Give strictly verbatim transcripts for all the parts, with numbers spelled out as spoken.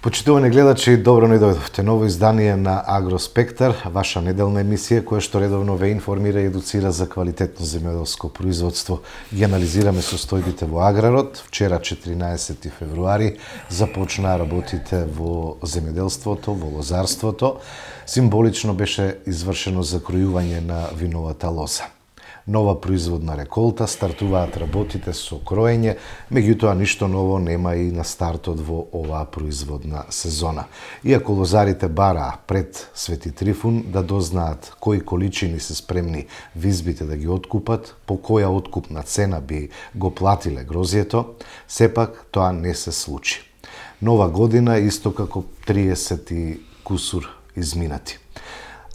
Почитувани гледачи, добро ни дојдовте. Ново издание на Агроспектар, ваша неделна емисија која што редовно ве информира и едуцира за квалитетно земјоделско производство. Ги анализираме состојбите во аграрот. Вчера, четиринаесети февруари, започнаа работите во земјоделството, во лозарството. Символично беше извршено закројување на виновата лоза. Нова производна реколта, стартуваат работите со кроење, меѓутоа ништо ново нема и на стартот во оваа производна сезона. Иако лозарите бараа пред Свети Трифун да дознаат кои количини се спремни визбите да ги откупат, по која откупна цена би го платиле грозјето, сепак тоа не се случи. Нова година исто како триесет и кусур изминати.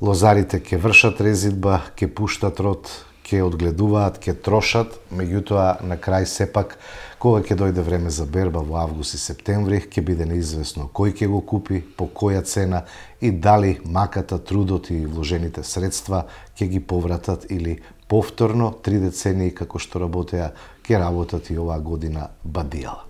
Лозарите ќе вршат резидба, ќе пуштат род, ќе одгледуваат, ќе трошат, меѓутоа на крај сепак, кога ќе дојде време за берба во август и септември, ќе биде неизвестно кој ќе го купи, по која цена и дали маката, трудот и вложените средства ќе ги повратат или повторно три децении како што работеа, ќе работат и оваа година бадијала.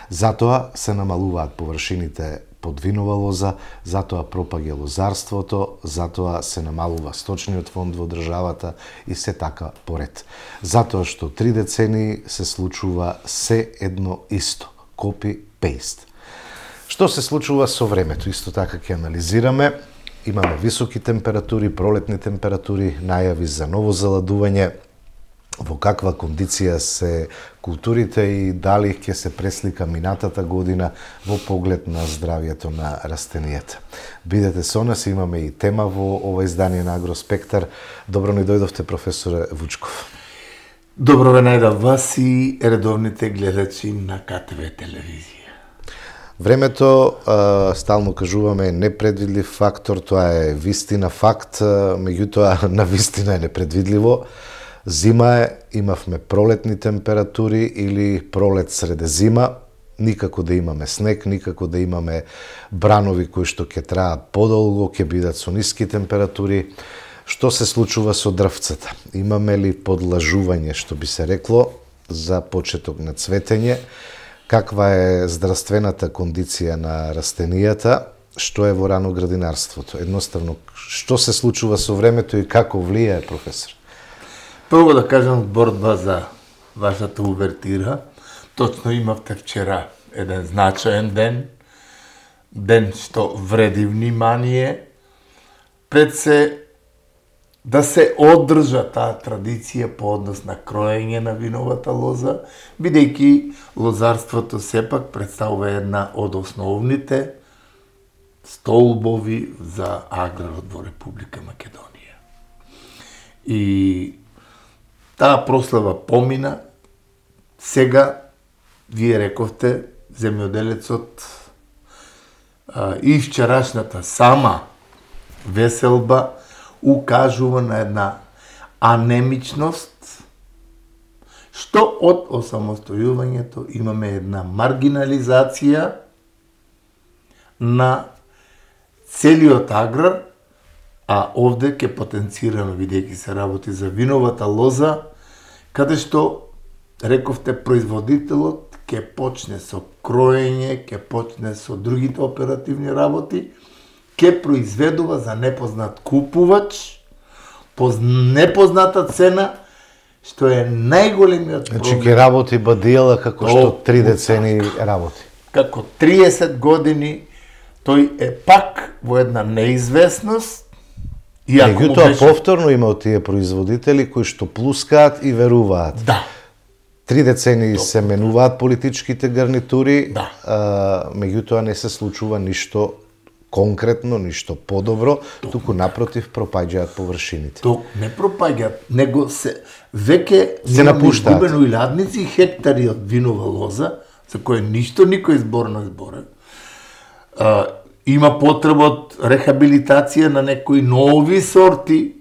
Затоа се намалуваат површините под винова лоза, затоа пропаѓа лозарството, затоа се намалува сточниот фонд во државата и се така поред. Затоа што три децении се случува се едно исто, copy-paste. Што се случува со времето? Исто така ќе анализираме. Имаме високи температури, пролетни температури, најави за ново заладување, во каква кондиција се културите и дали ќе се преслика минатата година во поглед на здравјето на растенијата. Бидете со нас, имаме и тема во ова издание на Агроспектар. Добро ни дојдовте, професоре Вучков. Добро ве најдов вас и редовните гледачи на К Т В телевизија. Времето, стално кажуваме, е непредвидлив фактор, тоа е вистина факт, меѓутоа на вистина е непредвидливо. Зима е, имавме пролетни температури или пролет среде зима, никако да имаме снег, никако да имаме бранови кои што ќе траат подолго, ќе бидат со ниски температури. Што се случува со дрвцата? Имаме ли подлажување, што би се рекло, за почеток на цветење? Каква е здравствената кондиција на растенијата? Што е во рано градинарството? Едноставно, што се случува со времето и како влијае, професор? Прво да кажам борба за вашата увертира. Точно имавте вчера еден значаен ден, ден што вреди внимание, пред се да се одржа таа традиција по однос на кроење на виновата лоза, бидејќи лозарството сепак представува една од основните столбови за аграрот во Република Македонија. И таа прослава помина, сега, вие рековте, земјоделецот а, и вчерашната сама веселба укажува на една анемичност, што од осамостојувањето имаме една маргинализација на целиот аграр, а овде ќе потенцирано, бидејќи се работи за виновата лоза, каде што, рековте, производителот ќе почне со кроење, ќе почне со другите оперативни работи, ќе произведува за непознат купувач, по непозната цена, што е најголемиот проблем. Значи ќе работи бадијала како што три децении работи. Како триесет години, тој е пак во една неизвестност. Меѓутоа беше... повторно има од тие производители кои што плускаат и веруваат. Да. Три децении Топ. се менуваат политичките гарнитури, да. а, меѓутоа не се случува ништо конкретно, ништо подобро, Топ. туку напротив пропаѓаат површините. Ток не пропаѓаат, него се веќе се напуштаат. Изгубено илјадници хектари од винова лоза, за кој ништо никој зборно зборен. А, има потреба од рехабилитација на некои нови сорти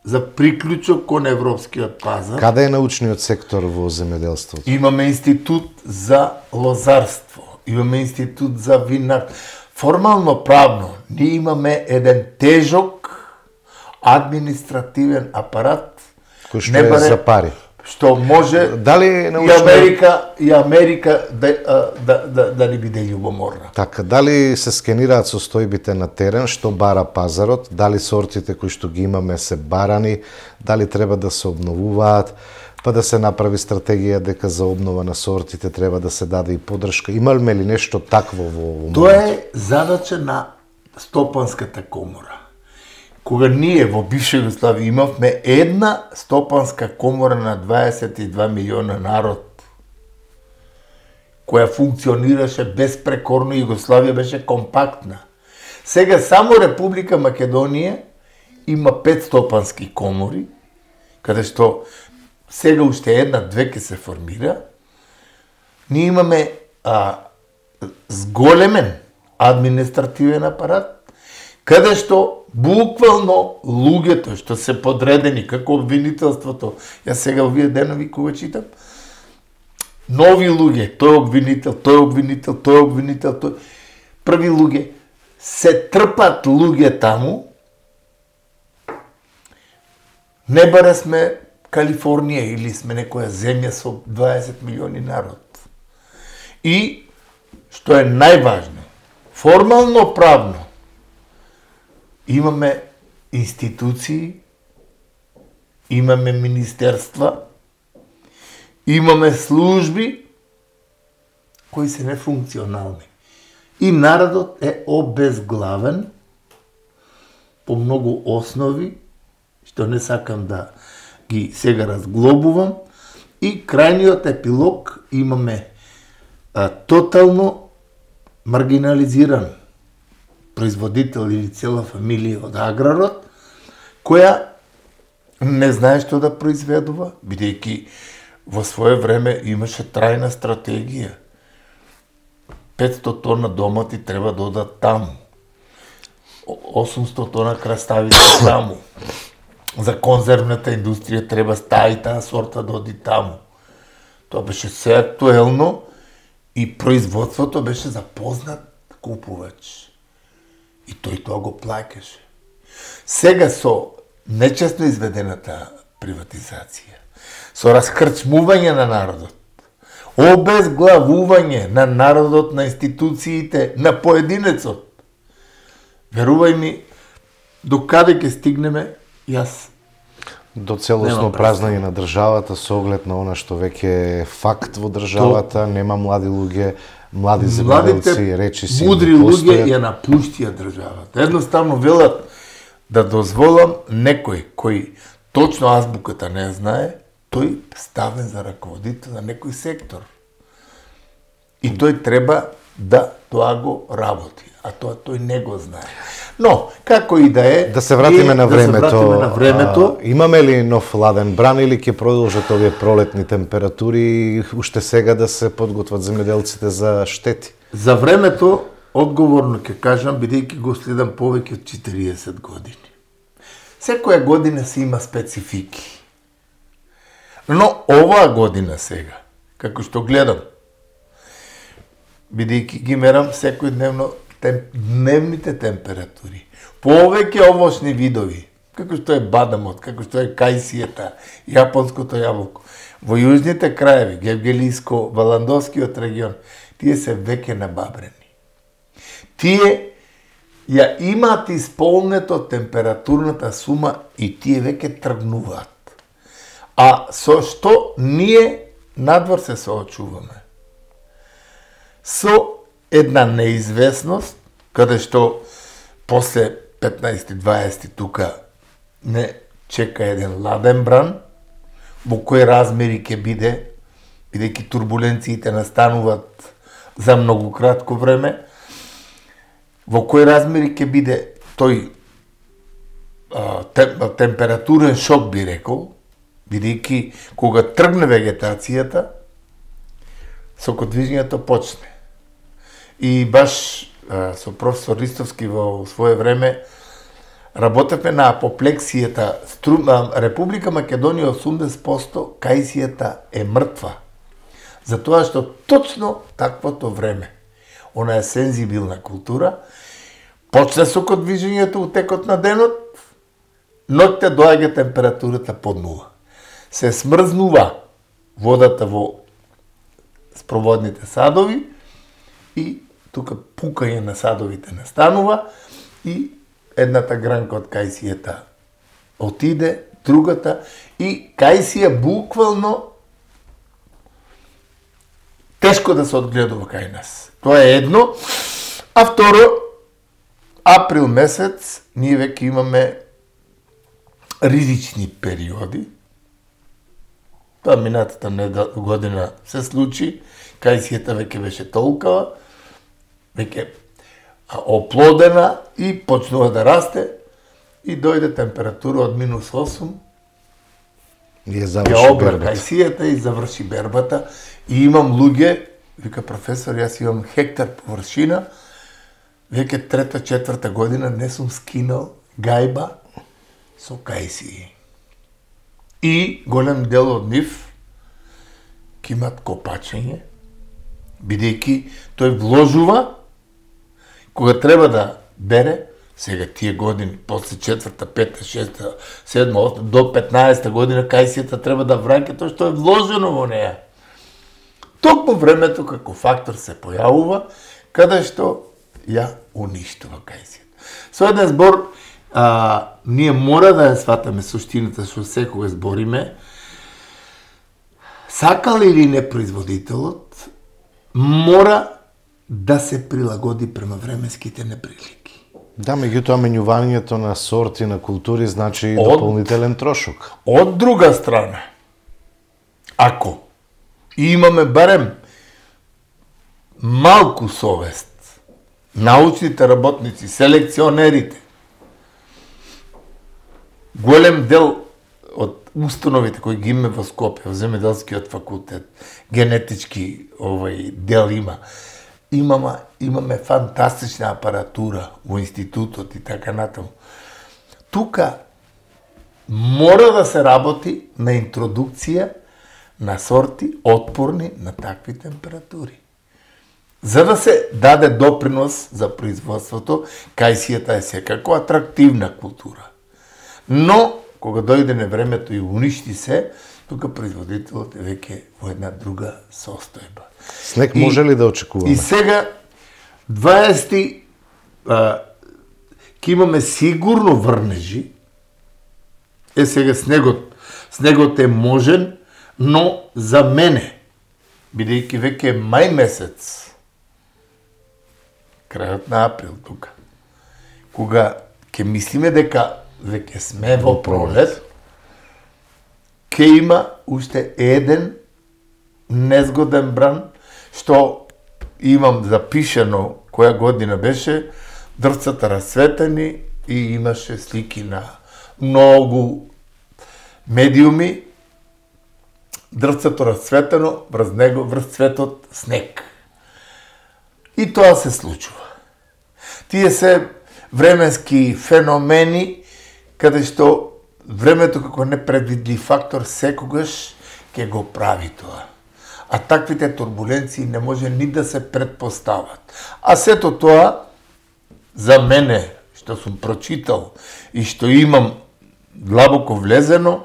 за приклучок кон европскиот пазар. Каде е научниот сектор во земјоделството? Имаме институт за лозарство, имаме институт за винар. Формално правно, ние имаме еден тежок административен апарат кој што е за пари. што може Дали научно... и Америка и Америка да да да, да не биде љубоморна. Така, дали се скенираат состојбите на терен, што бара пазарот, дали сортите кои што ги имаме се барани, дали треба да се обновуваат, па да се направи стратегија дека за обнова на сортите треба да се даде и поддршка. Имаме ли нешто такво во моментот? Тоа е задача на Стопанската комора. Кога ние во бивша Југославија имавме една стопанска комора на дваесет и два милиона народ, која функционираше безпрекорно, Југославија беше компактна. Сега само Република Македонија има пет стопански комори, каде што сега уште една-две ке се формира. Ние имаме а, зголемен административен апарат, каде што буквално луѓето што се подредени како обвинителството, јас сега овие денови кога читам, нови луѓе, тој обвинител, тој обвинител, тој обвинител, тој први луѓе, се трпат луѓе таму. Не бара сме Калифорнија или сме некоја земја со дваесет милиони народ. И, што е најважно, формално правно, имаме институции, имаме министерства, имаме служби кои се нефункционални. И народот е обезглавен по многу основи, што не сакам да ги сега разглобувам, и крајниот епилог имаме а, тотално маргинализиран производител или цела фамилија од аграрот, која не знае што да произведува, бидејќи во свое време имаше трајна стратегија. петсто тона домати треба да одат таму. осумсто тона краставици таму. За конзервната индустрија треба таа и таа сорта да оди таму. Тоа беше се актуелно и производството беше запознат купувач. И тој тоа го плаќаше. Сега со нечесно изведената приватизација, со раскрчмување на народот, обезглавување на народот, на институциите, на поединецот, верувај ми, до каде ќе стигнеме, јас до целосно празнење на државата со оглед на она што веќе е факт во државата, нема млади луѓе, млади земјоделци, речиси мудри луѓе ја напуштија државата. Едноставно велат да дозволам некој кој точно азбуката не знае, тој ставен за раководител на некој сектор. И тој треба да тоа го работи, а тоа тој не го знае. Но, како и да е... Да се вратиме на времето. Да се вратиме на времето. А, имаме ли нов ладен бран или ќе продолжат овие пролетни температури и уште сега да се подготват земјоделците за штети? За времето, одговорно ќе кажам, бидејќи го следам повеќе од четириесет години. Секоја година си има специфики. Но оваа година сега, како што гледам, бидејќи ги мерам секојдневно тем, дневните температури, повеќе овошни видови, како што е бадамот, како што е кајсијата, јапонското јаболко, во јужните краеви, Гевгелиско, Валандовскиот регион, тие се веќе набабрени. Тие ја имаат исполнето температурната сума и тие веќе тргнуваат. А со што ние надвор се соочуваме? Со една неизвестност, каде што после петнаесет-дваесет тука не чека еден ладен бран, во кои размери ќе биде, бидејќи турбуленциите настануваат за многу кратко време, во кои размери ќе биде тој а, тем, температурен шок, би рекол, бидејќи кога тргне вегетацијата, сокодвижњето почне. И баш а, со професор Ристовски во свое време работевме на апоплексијата. Стру... Република Македонија осумдесет проценти кајсијата е мртва. Затоа што точно таквото време, она е сензибилна култура, почне сокодвижењето у текот на денот, ноќта доаѓа температурата под нула. се смрзнува водата во спроводните садови и тука пукање на садовите настанува и едната гранка од кајсијата отиде, другата и кајсија буквално тешко да се одгледува кај нас. Тоа е едно. А второ, април месец ние веќе имаме ризични периоди. Тоа минатата година се случи, кајсијата веќе беше толкава, веќе оплодена и почнува да расте и дојде температура од минус осум, и ја обра кајсијата и заврши бербата. И имам луѓе, вика професор, јас имам хектар површина, веќе трета, четврта година не сум скинал гајба со кајсии. И голем дел од нив ќе имат копачење, бидејќи тој вложува, кога треба да бере, сега тие години, после четврта, пета, шеста, седма, осма, до петнаесета година, кајсијата треба да враќа тоа што е вложено во неја. Токму времето како фактор се појавува, каде што ја уништува кајсијата. Со еден збор, а, ние мора да ја сватаме суштината што секога збориме, сакал или не производителот, мора да се прилагоди према временските неприлики. Да, меѓутоа менјувањето на сорти, на култури значи и дополнителен трошок. Од друга страна, ако имаме барем малку совест, научните работници, селекционерите, голем дел од установите кои ги имаме во Скопје, во земјоделскиот факултет, генетички овај дел има, имаме, имаме фантастична апаратура во институтот и така натаму. Тука мора да се работи на интродукција на сорти отпорни на такви температури. За да се даде допринос за производството, кајсијата е секако атрактивна култура. Но, кога дојде на времето и уништи се, тука производителот е веќе во една друга состојба. Снег може ли да очекуваме? И сега, дваесети, ќе имаме сигурно врнежи. Е, сега снегот, снегот е можен, но за мене, бидејќи веќе е мај месец, крајот на април тука, кога ќе мислиме дека веќе сме во пролет, ќе има уште еден незгоден бран, што имам запишано која година беше, дрвцата расцветени и имаше слики на многу медиуми, дрвцето расцветено, врз него, врз цветот снег. И тоа се случува. Тие се временски феномени, каде што времето како непредвидлив фактор секогаш ќе го прави тоа. А таквите турбуленции не може ни да се предпостават. А сето тоа, за мене, што сум прочитал и што имам длабоко влезено,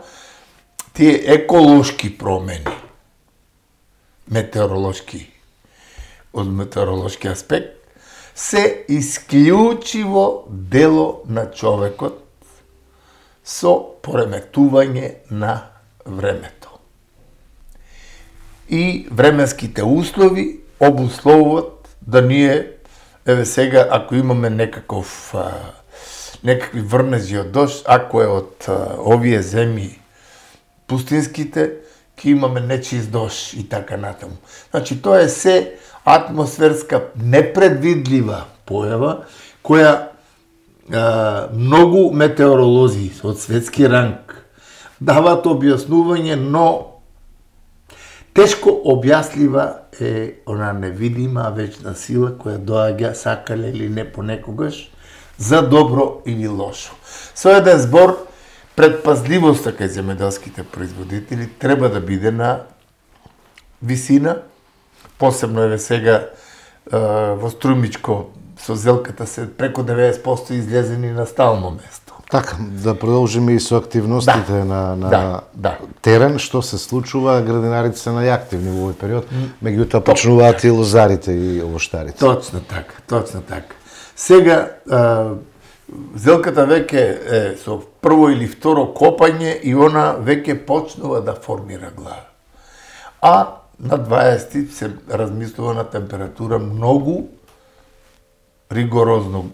тие еколошки промени, метеоролошки, од метеоролошки аспект, се исклучиво дело на човекот со пореметување на времето. И временските услови обусловуват да ние, еве сега, ако имаме некаков, а, некакви врнежи од дожд, ако е од а, овие земји пустинските, ќе имаме нечист дожд и така натаму. Значи, тоа е се атмосферска непредвидлива појава, која а, многу метеоролози од светски ранг дават објаснување, но тешко објаслива е она невидима вечна сила која доаѓа, сакале или не понекогаш, за добро или лошо. Со еден збор, предпазливоста кај земјоделските производители треба да биде на висина, посебно еве сега во Струмичко со зелката се преку деветдесет проценти излезени на стално место. Така, да продолжиме и со активностите да. на, на да, да. терен, што се случува, градинарите се најактивни во овој период, меѓутоа почнуваат и лозарите и овоштарите. Точно така, точно така. Сега, а, зелката веќе е со прво или второ копање и она веќе почнува да формира глава. А на дваесети се размислува на температура многу ригорозно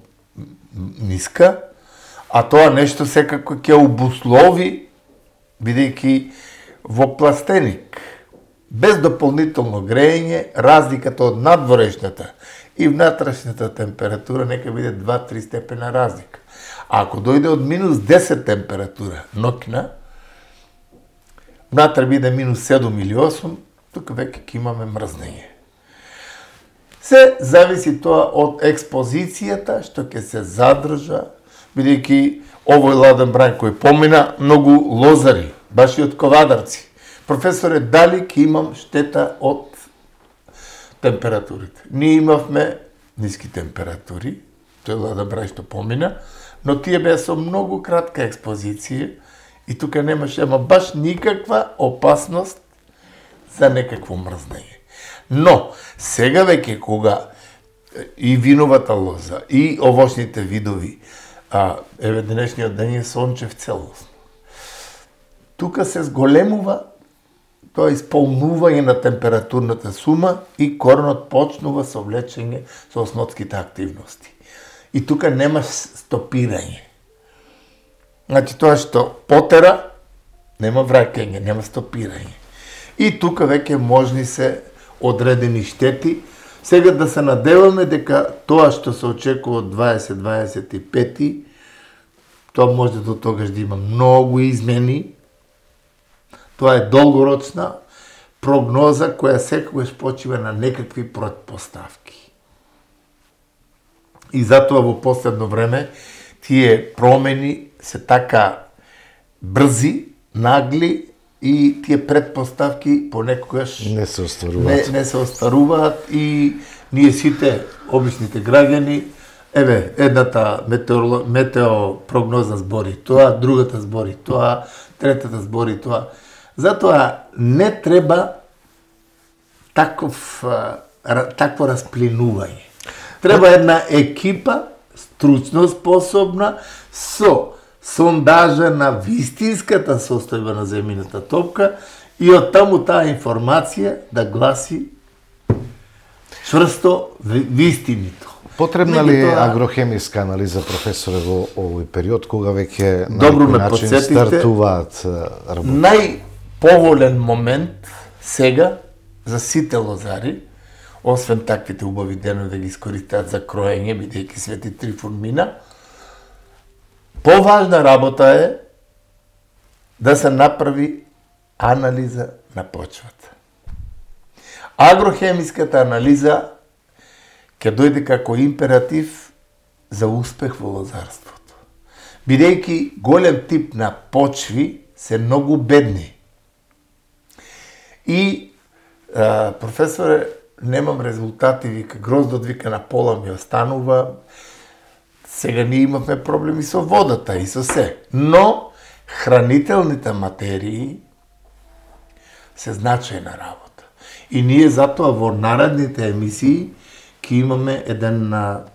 ниска, а тоа нешто секако ќе обуслови, бидејќи во пластеник, без дополнително грејење, разликата од надворешната и внатрешната температура нека биде два-три степена разлика. А ако дојде од минус десет температура ноќна, внатре биде минус седум или осум, тука веќе ќе имаме мрзнење. Се зависи тоа од експозицијата што ќе се задржа, бидејќи овој ладен брај кој помина, многу лозари, баш и од ковадарци. Професоре, дали ќе имам штета од температурите? Ние имавме ниски температури, тој ладен брај што помина, но тие беа со многу кратка експозиција и тука немаше ама баш никаква опасност за некакво мрзнење. Но, сега веќе кога и виновата лоза, и овошните видови, а еве денешниот ден е сончев целосно. Тука се зголемува тоа исполнување на температурната сума и коренот почнува со влечење со осмотските активности. И тука нема стопирање. Значи тоа што потера, нема враќање, нема стопирање. И тука веќе можни се одредени штети. Сега да се надеваме дека тоа што се очекува од дваесет дваесет и пети, тоа може до тогаш да има многу измени. Тоа е долгорочна прогноза која секогаш почива на некакви претпоставки. И затоа во последно време тие промени се така брзи, нагли и тие претпоставки понекогаш не се остваруваат. Не, не се остваруваат и ние сите обичните граѓани, еве, едната метеоро, метеопрогноза збори тоа, другата збори тоа, третата збори тоа. Затоа не треба таков, такво расплинување. Треба една екипа, стручно способна, со сондажа на вистинската состојба на земјината топка и од таму таа информација да гласи чврсто вистинито. Потребна ли е агрохемиска анализа, професоре, во овој период, кога веќе на добро некој ме начин подсетите, стартуваат работи? Најповолен момент сега за сите лозари, освен таквите убави денови да ги искористат за кроење, бидејќи Свети Трифун мина, поважна работа е да се направи анализа на почвата. Агрохемиската анализа ќе дојде како императив за успех во лозарството. Бидејќи голем тип на почви се многу бедни. И, а, професоре, немам резултати, вика, гроздот вика на пола ми останува. Сега ние имавме проблеми со водата и со се. Но хранителните материи се значајна работа. И ние затоа во наредните емисии ќе имаме еден а,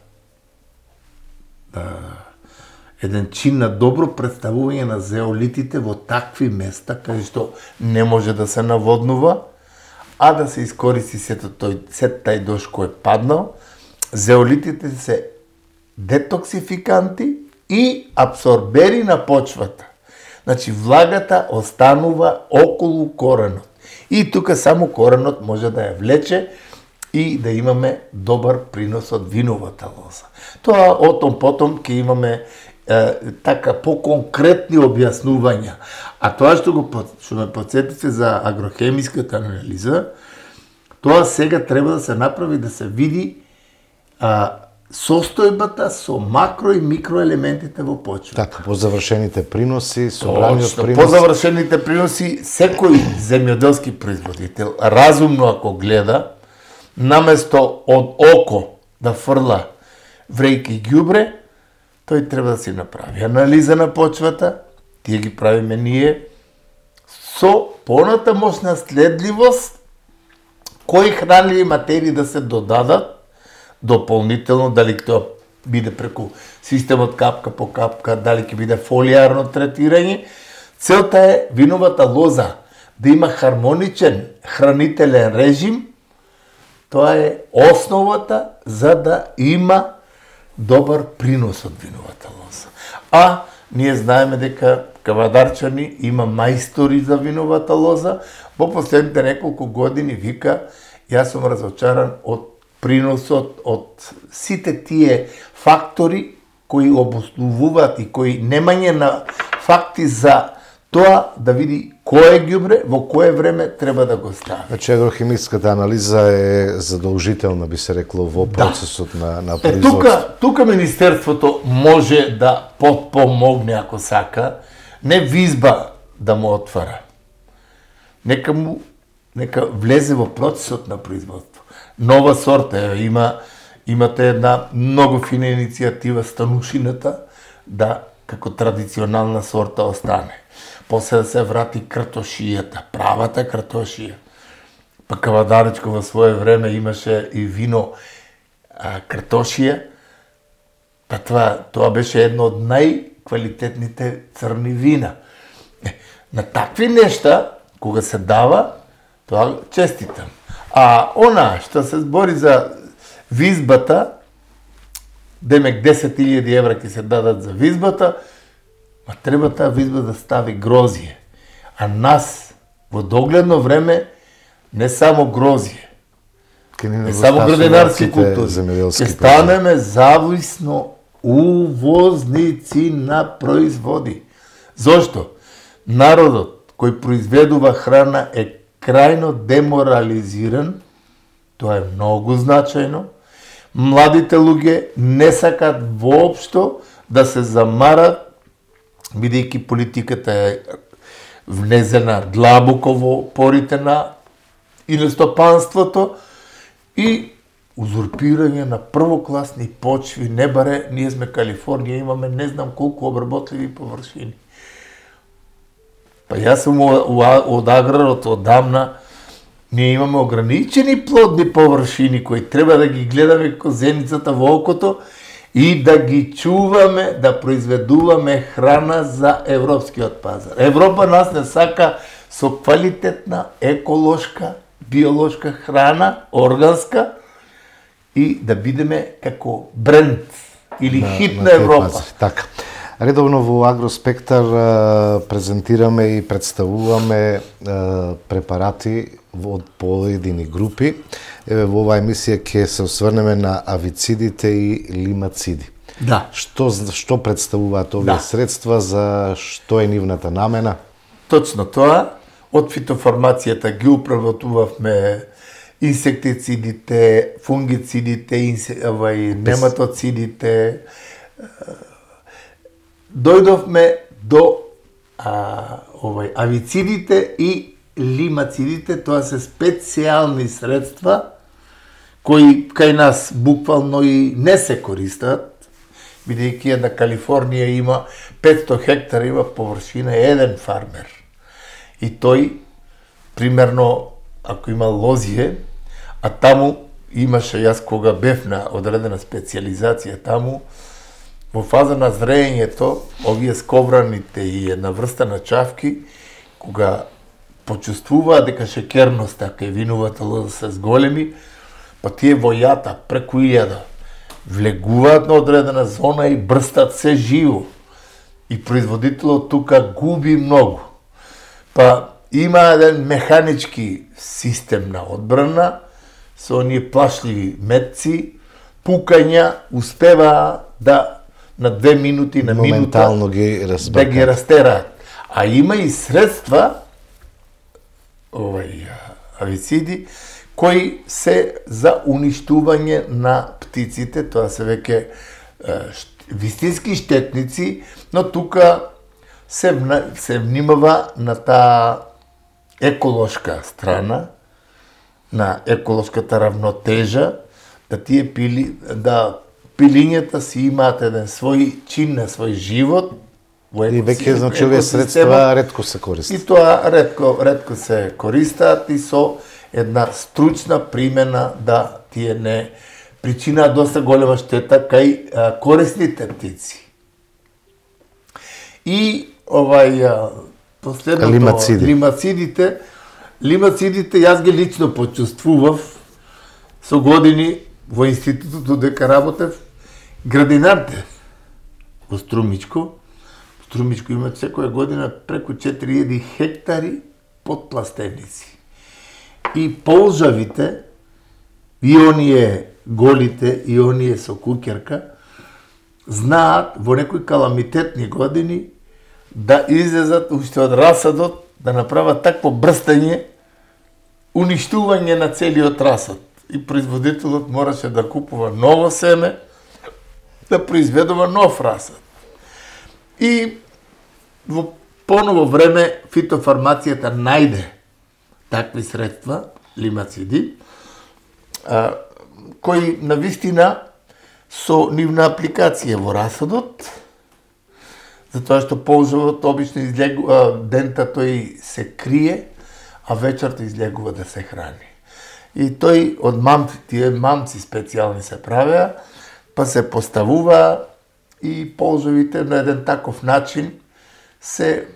еден чин на добро представување на зеолитите во такви места каде што не може да се наводнува, а да се искористи сето тој сет тај дожд кој е паднал. Зеолитите се детоксификанти и абсорбери на почвата. Значи влагата останува околу коренот. И тука само коренот може да ја влече и да имаме добар принос од виновата лоза. Тоа отом потом ќе имаме е, така по-конкретни објаснувања. А тоа што го што ме подсетите за агрохемиската анализа, тоа сега треба да се направи да се види а, состојбата со макро и микроелементите во почвата. Така, по завршените приноси, собраниот принос. По завршените приноси, секој земјоделски производител, разумно ако гледа, наместо од око да фрла врејки ѓубре, тој треба да си направи анализа на почвата, тие ги правиме ние, со понатамошна следливост, кои хранливи материи да се додадат дополнително, дали тоа биде преку системот капка по капка, дали ќе биде фолиарно третирање. Целта е виновата лоза да има хармоничен хранителен режим. Тоа е основата за да има добар принос од виновата лоза. А ние знаеме дека Кавадарчани има мајстори за виновата лоза. Во последните неколку години вика, јас сум разочаран од приносот од сите тие фактори кои обоснувуваат и кои немање на факти за тоа да види кое ѓубре, во кое време треба да го стави. Значи агрохимиската анализа е задолжителна, би се рекло, во процесот да. на, на производство. Е, тука, тука Министерството може да подпомогне, ако сака, не визба да му отвара. Нека му, нека влезе во процесот на производство. Нова сорта, има, имате една многу фина иницијатива, станушината, да како традиционална сорта остане. После да се врати картошијата, правата картошија. Па Кавадаречко во свое време имаше и вино а, картошија, па тоа, тоа беше едно од најквалитетните црни вина. Е, на такви нешта, кога се дава, тоа честитам. А она што се збори за визбата, демек десет илјади евра ќе се дадат за визбата, ма треба таа визба да стави грозие. А нас, во догледно време, не само грозие, не само градинарски култури, ќе станеме зависно увозници на производи. Зошто? Народот кој произведува храна е крајно деморализиран, тоа е многу значајно. Младите луѓе не сакат воопшто да се замарат, бидејќи политиката е внезена длабоко во порите на иностопанството и узурпирање на првокласни почви, не баре, ние сме Калифорнија, имаме не знам колку обработливи површини. Па јас сум од аграрот одамна, ние имаме ограничени плодни површини кои треба да ги гледаме како зеницата во окото и да ги чуваме, да произведуваме храна за европскиот пазар. Европа нас не сака со квалитетна, еколошка, биолошка храна, органска, и да бидеме како бренд или на, хит на, на Европа. Пазар. Така. Редовно во Агроспектар презентираме и представуваме препарати од поедини групи. Еве во оваа емисија ќе се осврнеме на авицидите и лимациди. Да. Што што представуваат овие да. средства, за што е нивната намена? Точно тоа. Од фитофармацијата ги управлувавме инсектицидите, фунгицидите, инсе, овај, нематоцидите. Дојдовме до а, овај, авицидите и лимацидите, тоа се специјални средства кои кај нас буквално и не се користат, бидејќи една Калифорнија има петсто хектара, има површина еден фармер. И тој, примерно, ако има лозие, а таму имаше, јас кога бев на одредена специализација таму, во фаза на зреењето, овие сковраните и една врста на чавки, кога почувствуваат дека шекерноста кај виновата лоза се зголеми, па тие во јата преку илјада влегуваат на одредена зона и брстат се живо. И производителот тука губи многу. Па има еден механички систем на одбрана, со оние плашливи метци, пукања, успеваа да на две минути, на минута ги да ги растераат. А има и средства, овај, авициди, кои се за уништување на птиците, тоа се веќе вистински штетници, но тука се, се внимава на таа еколошка страна, на еколошката равнотежа, да тие пили, да пилињата си имаат еден свој чин на свој живот. И веќе, значи, овие средства ретко се користат. И тоа ретко, ретко се користат и со една стручна примена да тие не причинаа доста голема штета кај а, корисните птици. И овај а, последното лимациди. лимацидите, лимацидите јас ги лично почувствував со години во институтот дека работев градинарте во Струмичко. Струмичко има секоја година преку четири илјади хектари подпластеници. И полжавите, и оние голите, и оние со кукерка, знаат во некои каламитетни години да излезат уште од расадот, да направат такво брстање, уништување на целиот расад. И производителот мораше да купува ново семе, да произведува нов расад. И во поново време фитофармацијата најде такви средства, лимациди, а, кои навистина со нивна апликација во расадот, затоа што полжавот обично излегува, дента тој се крие, а вечерта излегува да се храни. И тој од мамци, тие мамци специјални се правеа, па се поставува и полжавите на еден таков начин се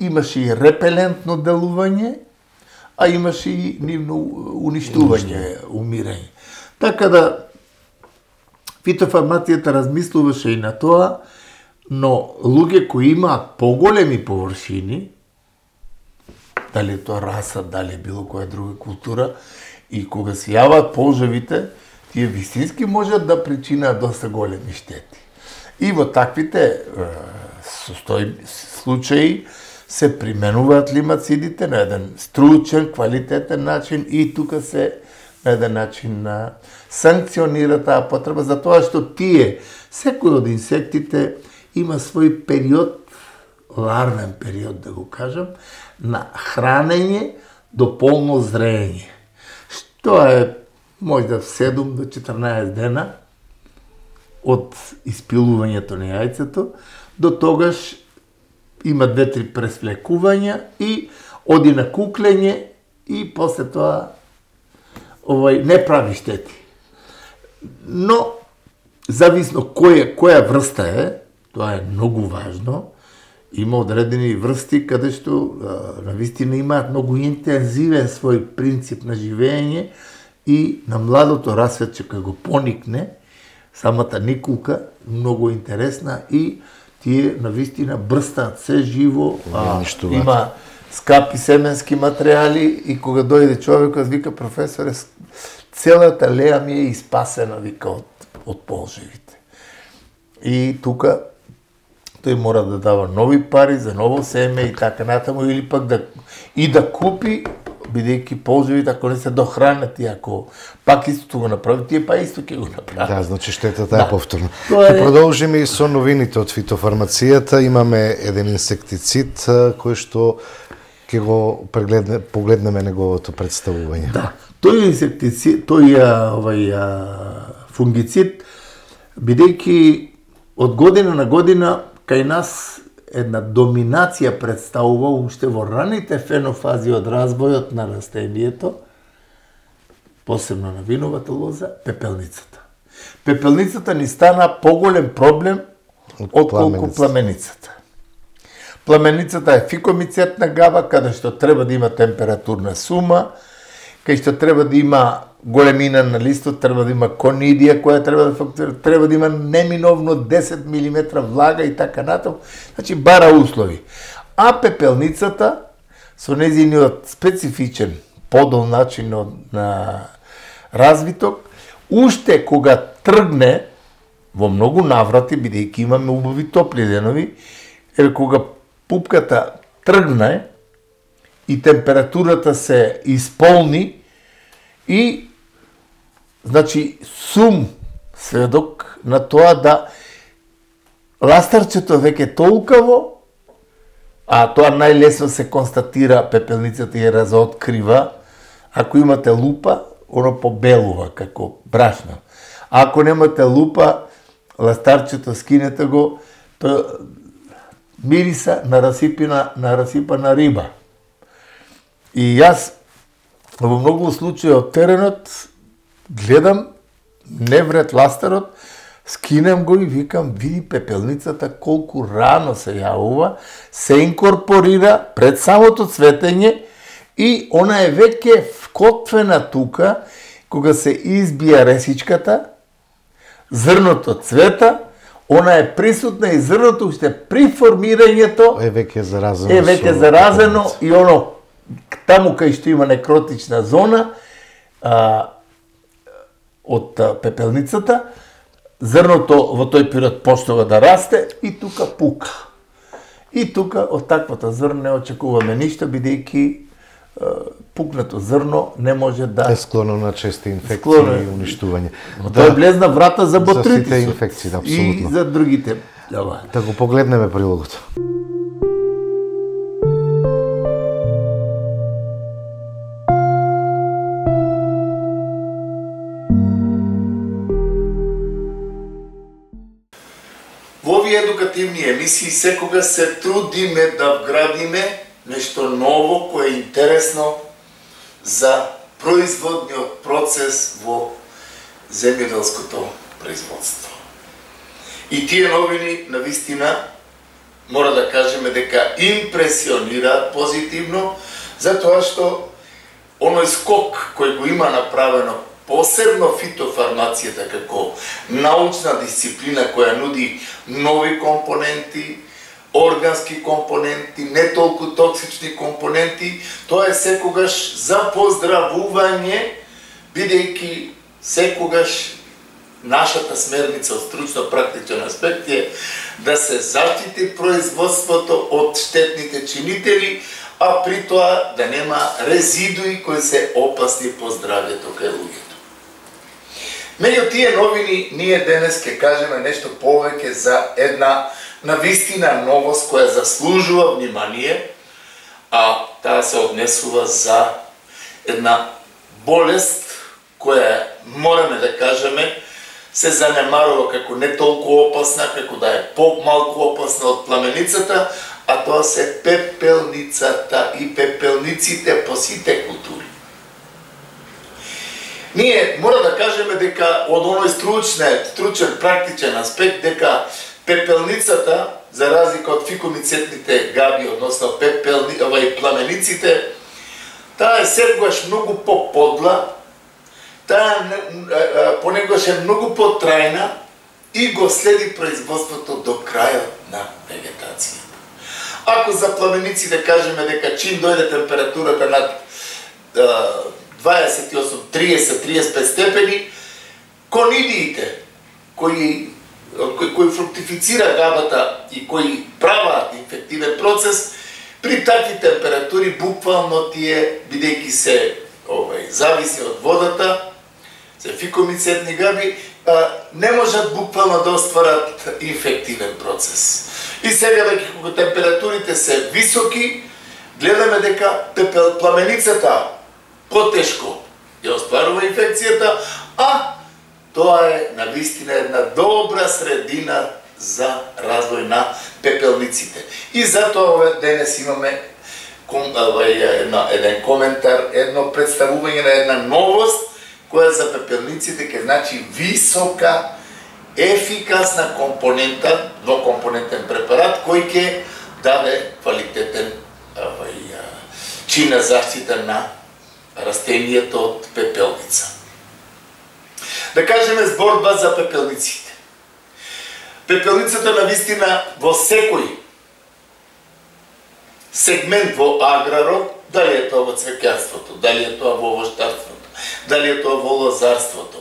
имаше и репелентно делување, а имаше и нивно уништување, умирање. Така да фитофармацијата размислуваше и на тоа, но луѓе кои имаат поголеми површини, дали тоа расад, дали било која друга култура, и кога се јаваат полжавите, тие вистински можат да причинаат доста големи штети. И во таквите состои случаи се применуваат лимацидите на еден стручен, квалитетен начин и тука се на еден начин на санкционира таа потреба, затоа што тие, секој од инсектите има свој период, ларвен период да го кажам, на хранење до полно зреење. Што е можда седум до четрнаесет дена од испилувањето на јајцето, до тогаш има две-три пресвлекувања и оди на куклење и после тоа овај не прави штети. Но зависно која која врста е, тоа е многу важно. Има одредени врсти каде што навистина имаат многу интензивен свој принцип на живење и на младото расцветче кога го поникне, самата никулка многу интересна и тие навистина брстаат се живо, а, има скапи семенски материјали и кога дојде човекот вика професоре целата леа ми е испасена вика од од полжевите. И тука тој мора да дава нови пари за ново семе и така натаму или пак да и да купи бидејќи полжевите ако не се дохранат и ако пак истото го направи, тие па исто ќе го направат. Да, значи штетата е да. повторна. Ќе е... продолжиме и со новините од фитофармацијата. Имаме еден инсектицид кој што ќе го прегледне, погледнеме неговото представување. Да, тој инсектицид, тој овај фунгицид, бидејќи од година на година кај нас една доминација представува уште во раните фенофази од развојот на растението, посебно на виновата лоза, пепелницата. Пепелницата ни стана поголем проблем отколку пламеницата. Пламеницата е фикомицетна гава, каде што треба да има температурна сума, кај што треба да има големина на листот, треба да има конидија која треба да фактурира, треба да има неминовно десет милиметра влага и така натаму. Значи бара услови. А пепелницата со нејзиниот специфичен подол начин на развиток, уште кога тргне во многу наврати, бидејќи имаме убави топли денови, е кога пупката тргне и температурата се исполни и значи сум сведок на тоа да ластарчето веќе толкаво, а тоа најлесно се констатира, пепелницата ја разоткрива, ако имате лупа, оно побелува како брашно. Ако немате лупа, ластарчето скинете го, тоа мириса на расипина, на расипана риба. И јас во многу случаи од теренот гледам, не вред ластарот, скинем го и викам, види пепелницата колку рано се јавува, се инкорпорира пред самото цветење и она е веќе вкотвена тука, кога се избија ресичката, зрното цвета, она е присутна и зрното уште при формирањето е веќе заразено. Е веќе заразено и оно таму кај што има некротична зона а, од а, пепелницата, зрното во тој период почнува да расте и тука пука. И тука од таквата зрно не очекуваме ништо, бидејќи пукнато зрно не може да е склоно на чести инфекции склоно... и уништување. Да, тоа е блезна врата за ботритисот. За сите инфекции, да, апсолутно. И за другите. Да, да го погледнеме прилогот. Во овие едукативни емисии секога се трудиме да вградиме нешто ново кое е интересно за производниот процес во земјоделското производство. И тие новини навистина мора да кажеме дека импресионираат позитивно, затоа што оној скок кој го има направено посебно фитофармацијата како научна дисциплина која нуди нови компоненти, органски компоненти, не толку токсични компоненти, тоа е секогаш за поздравување, бидејќи секогаш нашата смерница од стручно-практичен аспект е да се заштити производството од штетните чинители, а при тоа да нема резидуи кои се опасни по здравјето кај луѓето. Меѓу тие новини, ние денес ќе кажеме нешто повеќе за една навистина новост која заслужува внимание, а таа се однесува за една болест која мораме да кажеме се занемарува како не толку опасна, како да е по-малку опасна од пламеницата, а тоа се пепелницата и пепелниците по сите култури. Ние мора да кажеме дека од оној стручен, стручен практичен аспект дека пепелницата, за разлика од фикомицетните габи, односно пепелни, овај пламениците, таа е секогаш многу по-подла, таа понекогаш е многу по-трајна и го следи производството до крајот на вегетацијата. Ако за пламениците кажеме дека чим дојде температурата над дваесет и осум, триесет, триесет и пет степени, конидиите кои кои, кои фруктифицира габата и кои праваат инфективен процес, при такви температури буквално тие, бидејќи се овај, зависи од водата, се фикомицетни габи, а, не можат буквално да остварат инфективен процес. И сега веќе кога температурите се високи, гледаме дека пепел пламеницата потешко ја остварува инфекцијата, а тоа е навистина една добра средина за развој на пепелниците. И затоа денес имаме еден коментар, едно представување на една новост која за пепелниците ќе значи висока, ефикасна компонента, двокомпонентен препарат кој ќе даде квалитетен чин на заштита на растенијето од пепелница. Да кажеме зборба за пепелниците. Пепелницата навистина во секој сегмент во аграрот, дали е тоа во цвеќарството, дали е тоа во овоштарството, дали е тоа во лозарството,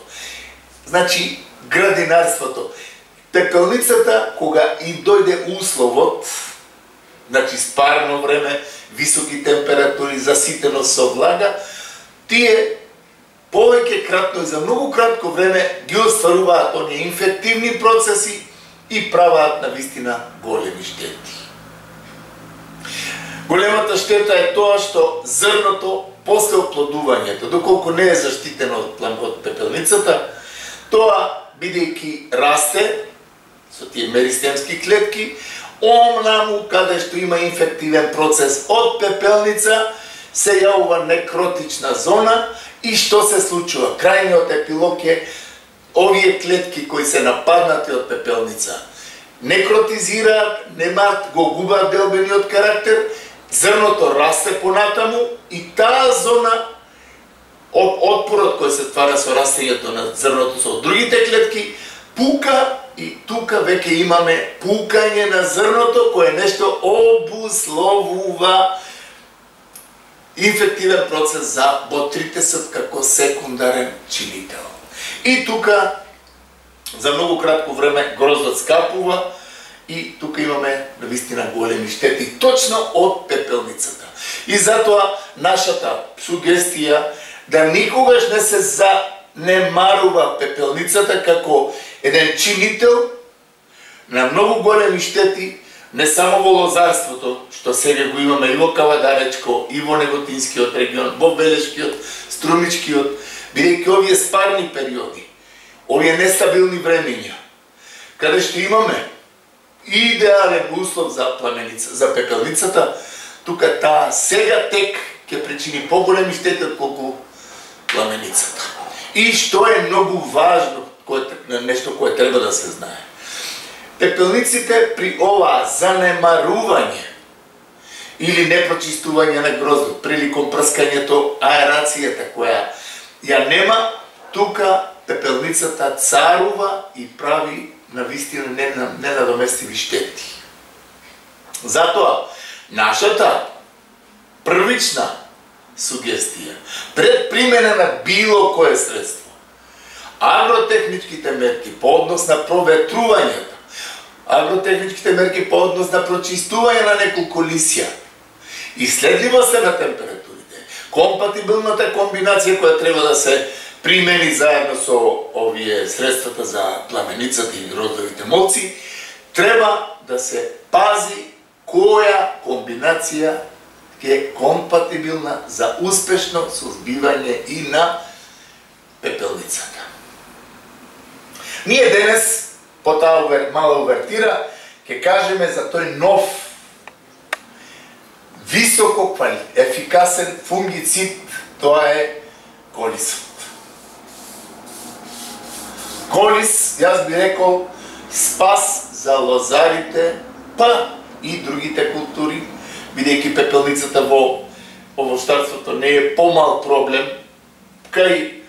значи градинарството. Пепелницата, кога и дојде условот, значи спарно време, високи температури, заситено со влага, тие повеќе кратно и за многу кратко време ги остваруваат оние инфективни процеси и праваат навистина големи штети. Големата штета е тоа што зрното после оплодувањето, доколку не е заштитено од, од пепелницата, Тоа, бидејќи расте со тие меристемски клетки, омнаму каде што има инфективен процес од пепелница, се јавува некротична зона и што се случува? Крајниот епилог е овие клетки кои се нападнати од пепелница некротизираат, немаат, го губаат делбениот карактер, зрното расте понатаму и таа зона од отпорот кој се ствара со растењето на зрното со другите клетки пука и тука веќе имаме пукање на зрното кое нешто обусловува инфективен процес за ботритесот како секундарен чинител. И тука за многу кратко време гроздот скапува и тука имаме навистина големи штети точно од пепелницата. И затоа нашата сугестија да никогаш не се занемарува пепелницата како еден чинител на многу големи штети, не само во лозарството, што сега го имаме и во Кавадаречко, и во Неготинскиот регион, во Белешкиот, Струмичкиот, бидејќи овие спарни периоди, овие нестабилни времења, каде што имаме идеален услов за пламеница, за пепелницата, тука таа сега тек ќе причини поголеми штети отколку пламеницата. И што е многу важно, нешто кое треба да се знае. Пепелниците при ова занемарување или непрочистување на гроздот, приликом прскањето, аерацијата која ја нема, тука пепелницата царува и прави навистина ненадоместиви штети. Затоа, нашата првична сугестија, пред примена на било кое средство, агротехничките мерки по однос на проветрувањето, агротехничките мерки по однос на прочистување на неколку лисја, иследливоста на температурите, компатибилната комбинација која треба да се примени заедно со овие средствата за пламеницата и гроздовите молци, треба да се пази која комбинација е компатибилна за успешно сузбивање и на пепелницата. Ние денес по таа мала увертира ќе кажеме за тој нов високо ефикасен фунгицид, тоа е колисот. Колис, јас би рекол, спас за лозарите, па и другите култури, бидејќи пепелницата во овощарството не е помал проблем, кај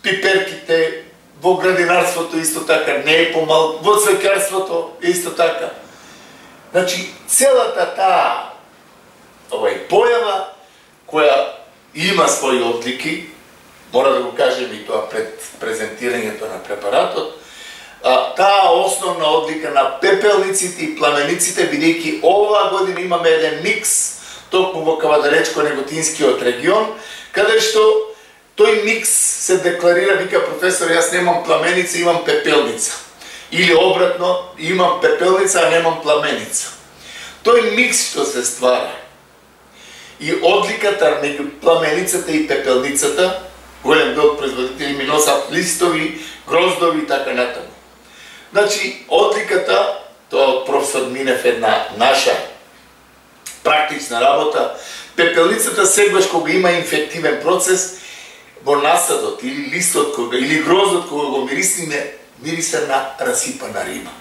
пиперките, во градинарството исто така не е помал, во цвеќарството исто така. Значи, целата таа овај појава, која има своји одлики, мора да го кажем и тоа пред презентирањето на препаратот, таа основна одлика на пепелниците и пламениците, бидејќи оваа година имаме еден микс, токму во Кавадаречко-Неготинскиот регион, каде што тој микс се декларира, вика професор, јас немам пламеница, имам пепелница. Или обратно, имам пепелница, а немам пламеница. Тој микс што се ствара и одликата меѓу пламеницата и пепелницата, голем дел производители ми носат листови, гроздови и така натаму. Значи, одликата, тоа од професор Минев една наша практична работа, пепелницата сегаш кога има инфективен процес, во насадот или листот кога, или гроздот кога го мирисиме, мириса на расипана риба.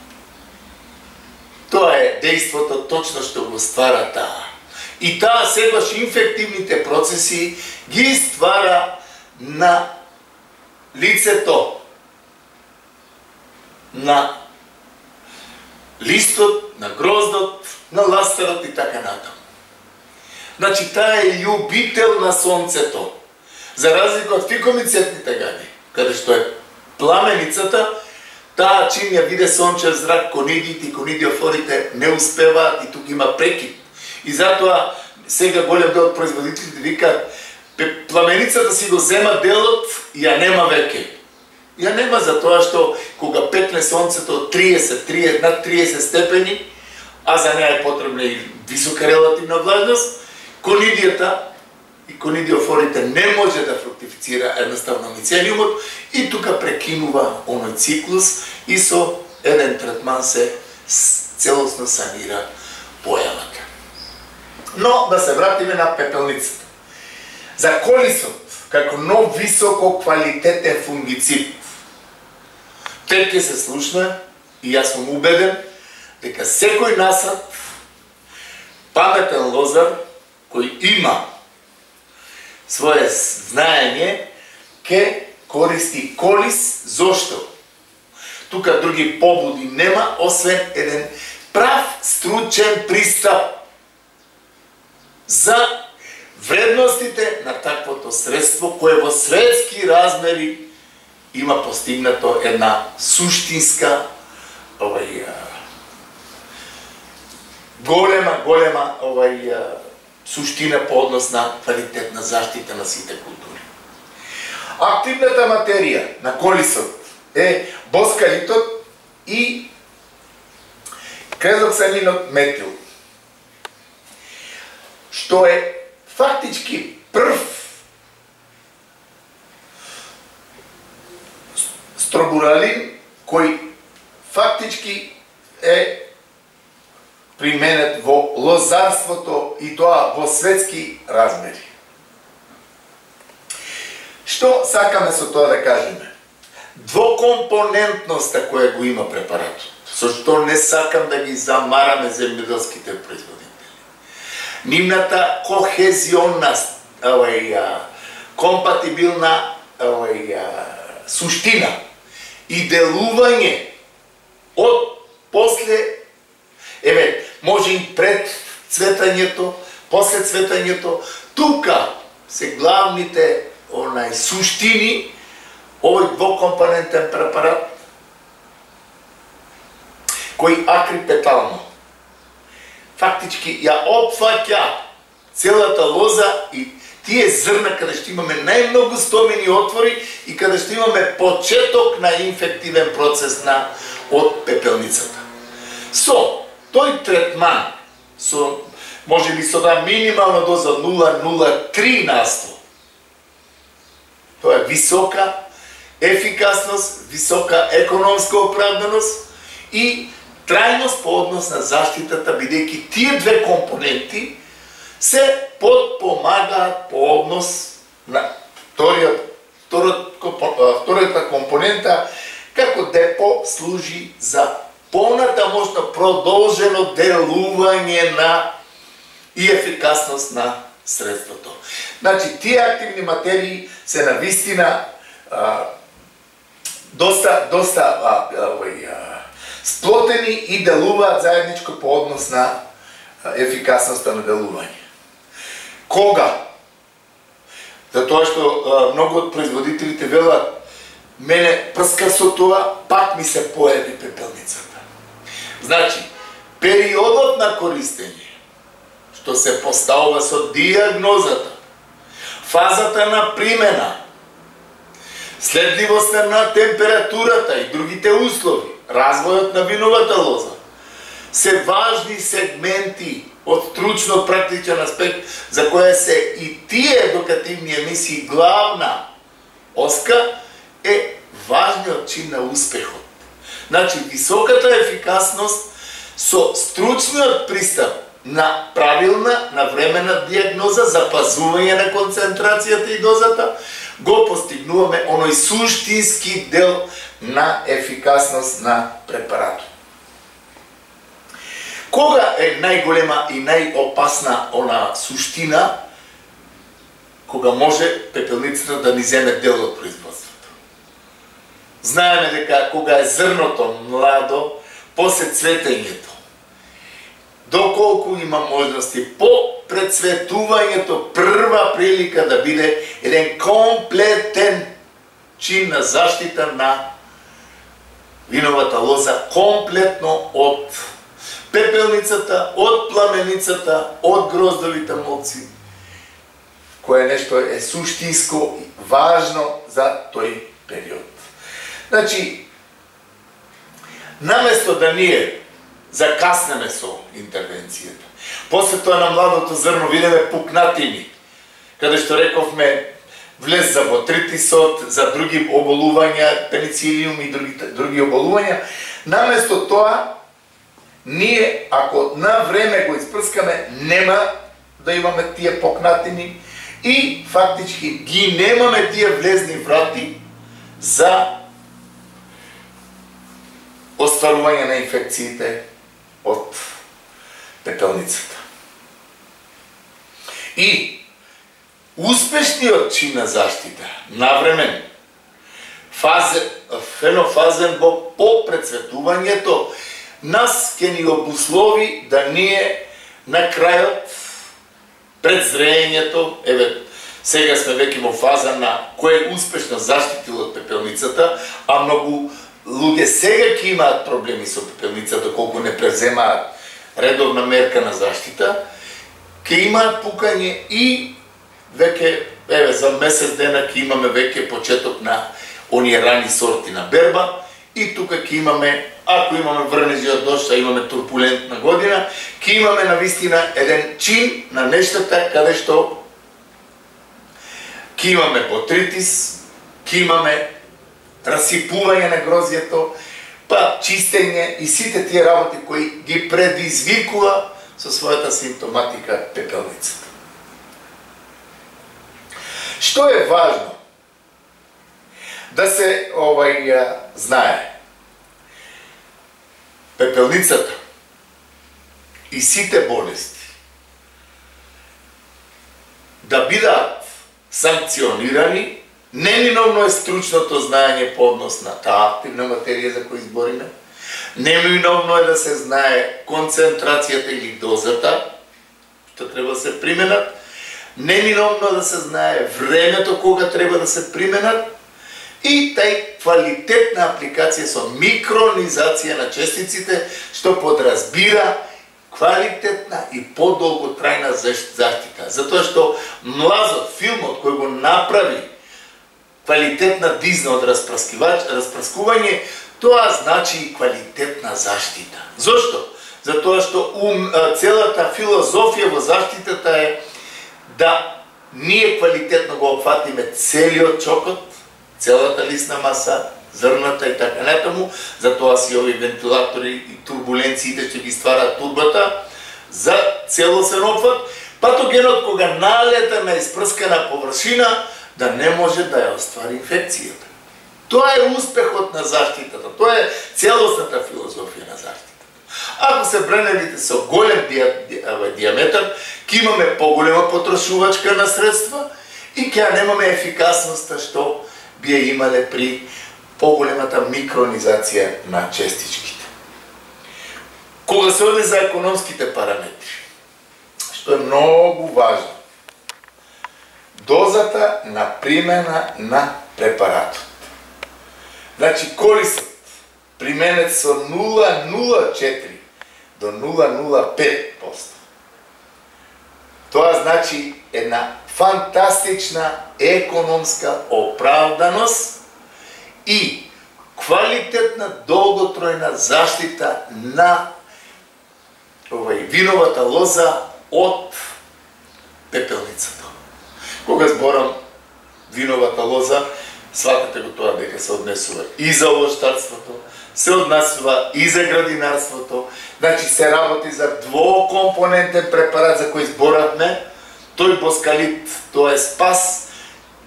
Тоа е дејството точно што го ствара таа. И таа сегаш инфективните процеси ги ствара на лицето, на листот, на гроздот, на ластарот и така натаму. Значи, таа е љубител на сонцето. За разлика од фикомицетните гади, каде што е пламеницата, таа чим ја виде сончев зрак, конидиите и конидиофорите не успеваат и тук има прекид. И затоа сега голем дел од производителите викаат, пламеницата си го зема делот и ја нема веќе. Ја нема затоа што кога пекне сонцето триесет, триесет, над триесет степени, а за неа е потребна и висока релативна влажност, конидијата и конидиофорите не може да фруктифицира едноставно мицелиумот и тука прекинува оној циклус и со еден третман се целосно санира појавата. Но да се вратиме на пепелницата. За колисот, како нов високо квалитетен фунгицид, тек ќе се слушна и јас сум убеден дека секој насад паметен лозар кој има свое знаење ќе користи колис. Зошто? Тука други побуди нема, освен еден прав стручен пристап за вредностите на таквото средство кое во светски размери има постигнато една суштинска овај голема голема овај суштина по однос на квалитетна заштита на сите култури. Активната материја на колисот е боскалитот и крезоксанинот метил, што е фактички прв стробуралин кој фактички е применет во лозарството и тоа во светски размери. Што сакаме со тоа да кажеме? Двокомпонентноста која го има препаратот, со што не сакам да ги замараме земјоделските производители. Нивната кохезионна, овај, компатибилна овај, суштина и делување од после, еве, може и пред цветањето, после цветањето, тука се главните онај суштини, овој двокомпонентен препарат, кој акрипетално фактички ја опфаќа целата лоза и тие зрна каде што имаме најмногу стомени отвори и каде што имаме почеток на инфективен процес на од пепелницата. Со тој третман, со можеби со да минимална доза нула zarez нула три на сто, тоа е висока ефикасност, висока економска оправданост и трајност по однос на заштитата, бидејќи тие две компоненти се подпомагаат по однос на вториот, втората компонента, како депо служи за понатамошно продолжено делување на и ефикасност на средството. Значи, тие активни материи се навистина а, доста, доста а, а, сплотени и делуваат заедничко по однос на ефикасноста на делување. Кога? Затоа што а, многу од производителите велат, мене прска со тоа, пак ми се појави пепелницата. Значи, периодот на користење, што се поставува со диагнозата, фазата на примена, следливоста на температурата и другите услови, развојот на виновата лоза, се важни сегменти од стручно-практичен аспект, за која се и тие едукативни емисии главна оска, е важниот чин на успехот. Значи, високата ефикасност со стручниот пристап на правилна, навремена диагноза, запазување на концентрацијата и дозата, го постигнуваме оној суштински дел на ефикасност на препаратот. Кога е најголема и најопасна она суштина, кога може пепелницата да ни земе дел од производството? Знаеме дека кога е зрното младо, после цветењето, доколку има можности по прецветувањето, прва прилика да биде еден комплетен чин на заштита на виновата лоза, комплетно од пепелницата, од пламеницата, од гроздовите молци, кое нешто е суштинско и важно за тој период. Значи, наместо да ние закаснеме со интервенцијата, после тоа на младото зрно видиме пукнатини, каде што рековме влез за ботритисот, за други оболувања, пеницилиум и други, други оболувања. Наместо тоа, ние, ако на време го испрскаме, нема да имаме тие покнатини и фактички ги немаме тие влезни врати за остварување на инфекциите од пепелницата. И успешниот чин на заштита, навремен, фазен, фенофазен во попрецветувањето, нас ќе ни обуслови да ние на крајот, пред зреењето, еве, сега сме веќе во фаза на кој е успешно заштитил од пепелницата, а многу луѓе сега ќе имаат проблеми со пепелницата, колку не преземаат редовна мерка на заштита, ќе имаат пукање и веќе, еве, за месец дена ќе имаме веќе почеток на оние рани сорти на берба и тука ќе имаме, ако имаме врнежи од дожд, а имаме турбулентна година, ќе имаме навистина еден чин на нештата каде што ќе имаме ботритис, ќе имаме расипување на грозјето, па чистење и сите тие работи кои ги предизвикува со својата симптоматика пепелницата. Што е важно да се овај знае? Пепелницата и сите болести да бидат санкционирани, неминовно е стручното знаење по однос на таа активна материја за која избориме, неминовно е да се знае концентрацијата или дозата, што треба да се применат, неминовно е да се знае времето кога треба да се применат и тај квалитетна апликација со микронизација на честиците, што подразбира квалитетна и подолготрајна заштита. Затоа што млазот, филмот кој го направи квалитетна дизна од распраскување, тоа значи и квалитетна заштита. Зошто? Затоа што ум, целата филозофија во заштитата е да ние квалитетно го опфатиме целиот чокот, целата лисна маса, зрната и така натаму, затоа си овие вентилатори и турбуленциите ќе ги стварат турбата за целосен опфат, патогенот кога налета на испрскана површина да не може да ја оствари инфекцијата. Тоа е успехот на заштитата, тоа е целосната филозофија на заштитата. Ако се бреневите со голем диаметар, ќе имаме поголема потрошувачка на средства и ќе немаме ефикасноста што би ја имале при поголемата микронизација на честичките. Кога се оди за економските параметри, што е многу важно, дозата на примена на препаратот. Значи, корисот применет со нула целу нула четири до нула целу нула пет проценти. Тоа значи една фантастична економска оправданост и квалитетна долготројна заштита на овај виновата лоза од пепелницата. Кога зборам виновата лоза, сватете го тоа дека се однесува и за овоштарството, се однесува и за градинарството, значи се работи за двокомпонентен препарат за кој зборавме, тој боскалит, тоа е спас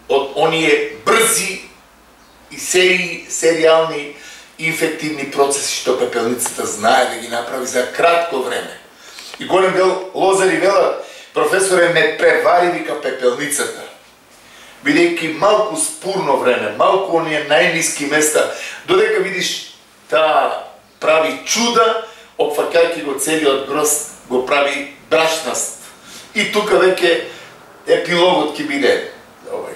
од оние брзи и сери, серијални инфективни процеси што пепелницата знае да ги направи за кратко време. И голем дел лозари велат, професоре, не превари вика пепелницата, бидејќи малку спурно време, малку оние најниски места, додека видиш таа прави чуда, опфаќајќи го целиот гроз, го прави брашнаст. И тука веќе епилогот ќе биде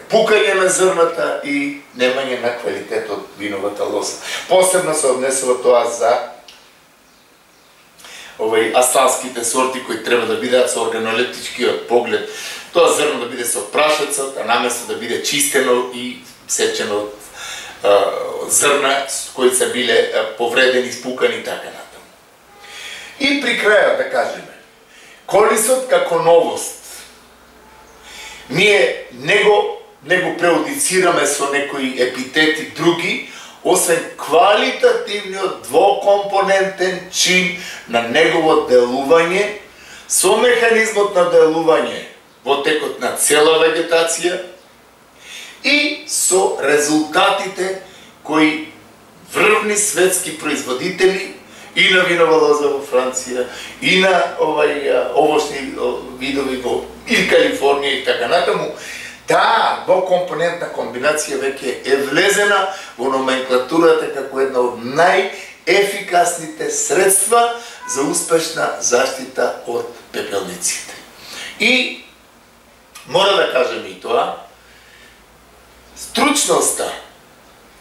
пукање на зрната и немање на квалитет од виновата лоза. Посебно се однесува тоа за овај асталските сорти кои треба да бидат со органолептичкиот поглед. Тоа зрно да биде со прашецот, а наместо да биде чистено и сечено од зрна кои се биле повредени, спукани и така натаму. И при крајот да кажеме, корисот како новост. Ние него, него преодицираме со некои епитети други, освен квалитативниот двокомпонентен чин на негово делување, со механизмот на делување во текот на цела вегетација и со резултатите кои врвни светски производители и на винова лоза во Франција, и на овај овошни видови во и Калифорнија и така натаму, таа двокомпонентна комбинација веќе е влезена во номенклатурата како една од најефикасните средства за успешна заштита од пепелниците. И мора да кажем и тоа, стручноста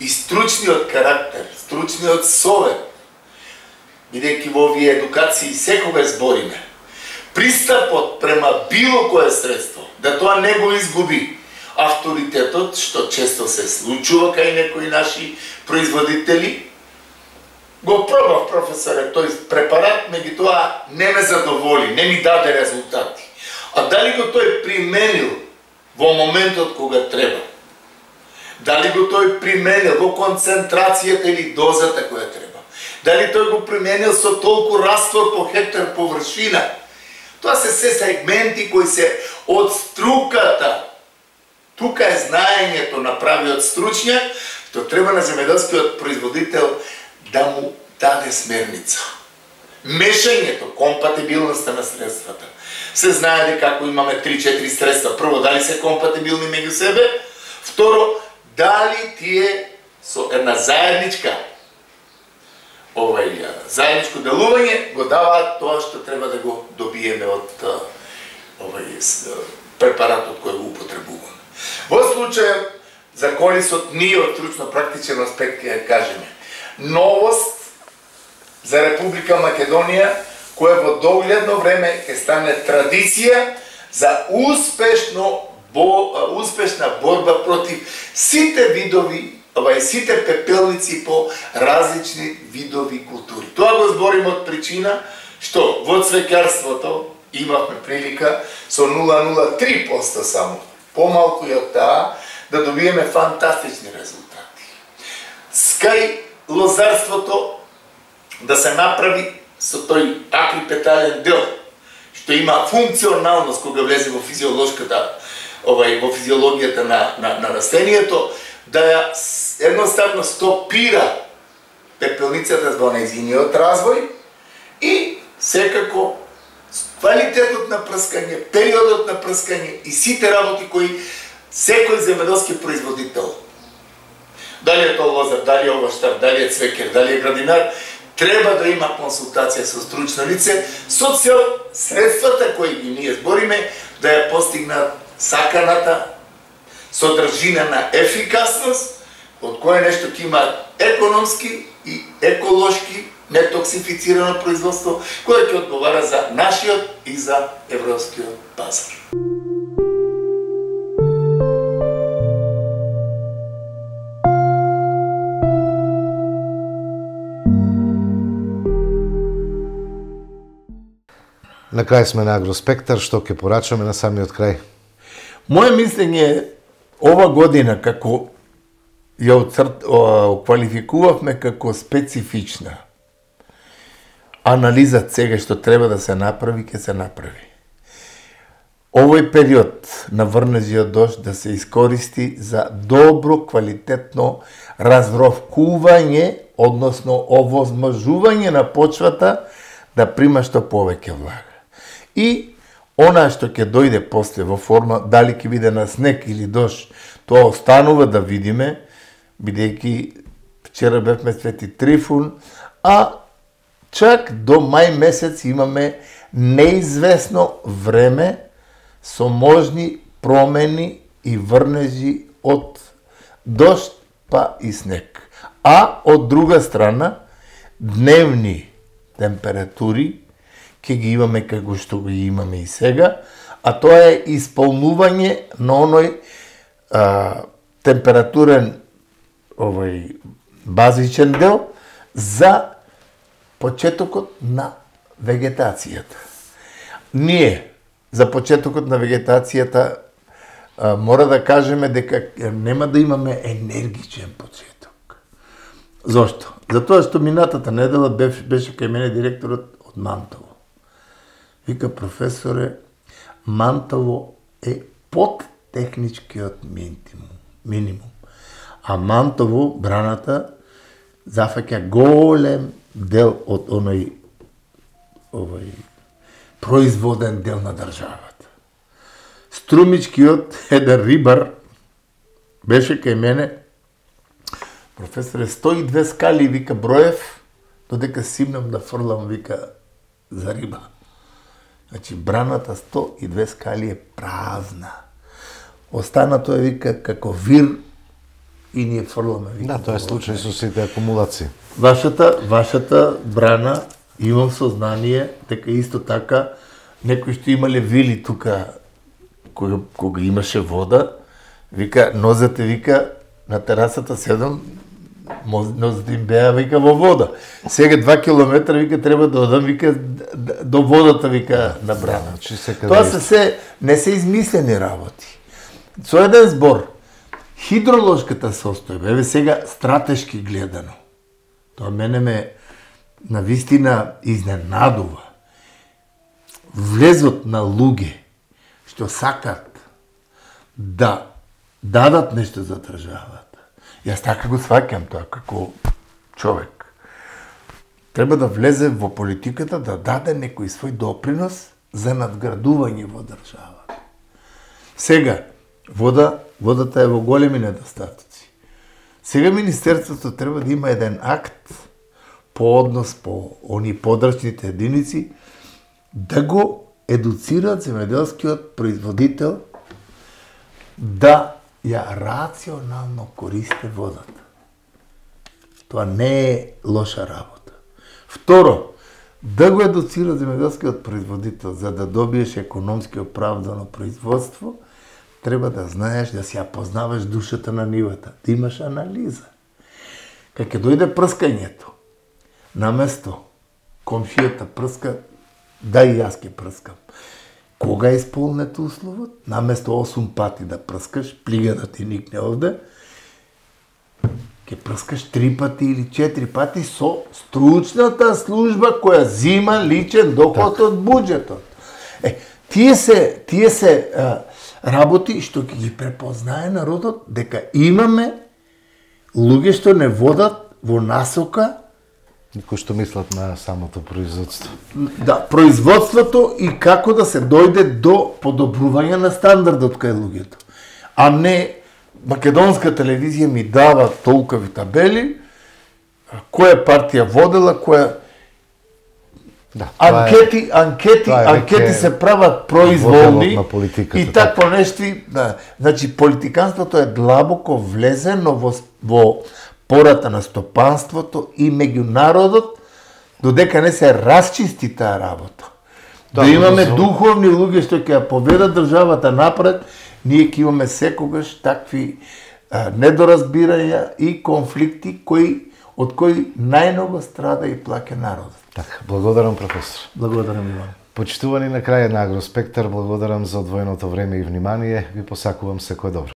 и стручниот карактер, стручниот совет, бидејќи во овие едукации секогаш збориме, пристапот према било кое средство, да тоа не го изгуби авторитетот, што често се случува кај некои наши производители. Го пробав, професоре, тој препарат, меѓутоа не ме задоволи, не ми даде резултати. А дали го тој применил во моментот кога треба? Дали го тој применил во концентрацијата или дозата која треба? Дали тој го применил со толку раствор по хектар површина? Тоа се се сегменти кои се од струката. Тука е знаењето на правиот стручњак, што треба на земјоделскиот производител да му даде смерница. Мешањето, компатибилноста на средствата. Се знае дека ако имаме три-четири средства, прво, дали се компатибилни меѓу себе, второ, дали тие со една заедничка овај заедничко делување го даваат тоа што треба да го добиеме од овај препаратот кој го употребуваме. Во случај за колисот ние од стручно-практичен аспект ќе кажеме новост за Република Македонија која во догледно време ќе стане традиција за успешно бо, успешна борба против сите видови, ова сите пепелници по различни видови култури. Тоа го збориме од причина што во цвеќарството имавме прилика со нула целу нула три проценти само, помалку и од таа, да добиеме фантастични резултати. Скај лозарството да се направи со тој акрипетален дел, што има функционалност кога влезе во физиолошката, овај во физиологијата на на, на растението, да ја едноставно стопира пепелницата во нејзиниот развој и секако квалитетот на прскање, периодот на прскање и сите работи кои секој земјоделски производител, дали е тоа лозар, дали е овоштар, дали е цвекер, дали е градинар, треба да има консултација со стручно лице со цел средствата кои ги ние збориме да ја постигнат саканата содржина на ефикасност, од кое нешто ќе има економски и еколошки нетоксифицирано производство, кое ќе одговара за нашиот и за европскиот пазар. На крај сме на Агроспектар, што ќе порачаме на самиот крај? Моje мислење е ова година како ја квалификувавме како специфична. Анализат сега што треба да се направи, ќе се направи. Овој период на врнежиот дожд да се искористи за добро, квалитетно разровкување, односно овозможување на почвата да прима што повеќе влага. И она што ќе дојде после во форма, дали ќе биде на снег или дожд, тоа останува да видиме, бидејќи вчера бевме Свети Трифун, а чак до мај месец имаме неизвестно време со можни промени и врнежи од дожд па и снег. А од друга страна, дневни температури ќе ги имаме како што ги имаме и сега, а тоа е исполнување на оној а, температурен овој базичен дел за почетокот на вегетацијата. Ние за почетокот на вегетацијата а, мора да кажеме дека нема да имаме енергичен почеток. Зошто? Затоа што минатата недела беше, беше кај мене директорот од Мантово. Вика, професоре, Мантово е под техничкиот минимум. минимум. А Мантово, браната, зафаќа голем дел од оној овој производен дел на државата. Струмичкиот еден рибар беше кај мене, професоре, сто и две скали, вика, броев, додека симнам да фрлам, вика, за риба. Значи, браната сто и две скали е празна. Останато е, вика, како вир и ние фрламе, вика. Да, тоа е случај со сите акумулации. Вашата, вашата брана, имам сознание, дека исто така, некои што имале вили тука, кога, кога имаше вода, вика, нозете, вика, на терасата седам, нозете им беа, вика, во вода. Сега два километра, вика, треба да одам, вика, до водата, вика, на брана. Тоа се се, не се измислени работи. Со еден збор, хидроложката состојба, еве сега стратешки гледано, тоа мене ме навистина изненадува. Влезот на луѓе што сакат да дадат нешто за државата. Јас така го сваќам тоа како човек. Треба да влезе во политиката, да даде некој свој допринос за надградување во државата. Сега, вода, водата е во големи недостатоци. Сега Министерството треба да има еден акт по однос по они подрачните единици, да го едуцираат земјоделскиот производител да ја рационално користи водата. Тоа не е лоша работа. Второ, да го едуцира земјоделскиот производител за да добиеш економски оправдано производство, треба да знаеш да си ја познаваш душата на нивата, да имаш анализа. Кога ќе дојде прскањето, наместо комшијата прска, да и јас ќе прскам. Кога е исполнет условот, наместо осум пати да прскаш, плига да ти никне овде, ќе прскаш три пати или четири пати со стручната служба која зима личен доход од буџетот. Е, тие се, тие се а, работи што ќе ги препознае народот дека имаме луѓе што не водат во насока кои што мислат на самото производство. Да, производството и како да се дојде до подобрување на стандардот кај луѓето. А не македонска телевизија ми дава толкови табели, која партија водела, која Да, анкети, е, анкети, анкети се прават произволни и такво нешто, да. Значи политиканството е длабоко влезено во во пората на стопанството и меѓу народот, додека не се расчисти таа работа. Да, да имаме за... духовни луѓе што ќе ја поведат државата напред, ние ќе имаме секогаш такви а, недоразбирања и конфликти кои од кои најмногу страда и плаќа народот. Така, благодарам професор. Благодарам Иван. Почитувани на крај на Агроспектар, благодарам за одвоеното време и внимание, ви посакувам секое добро.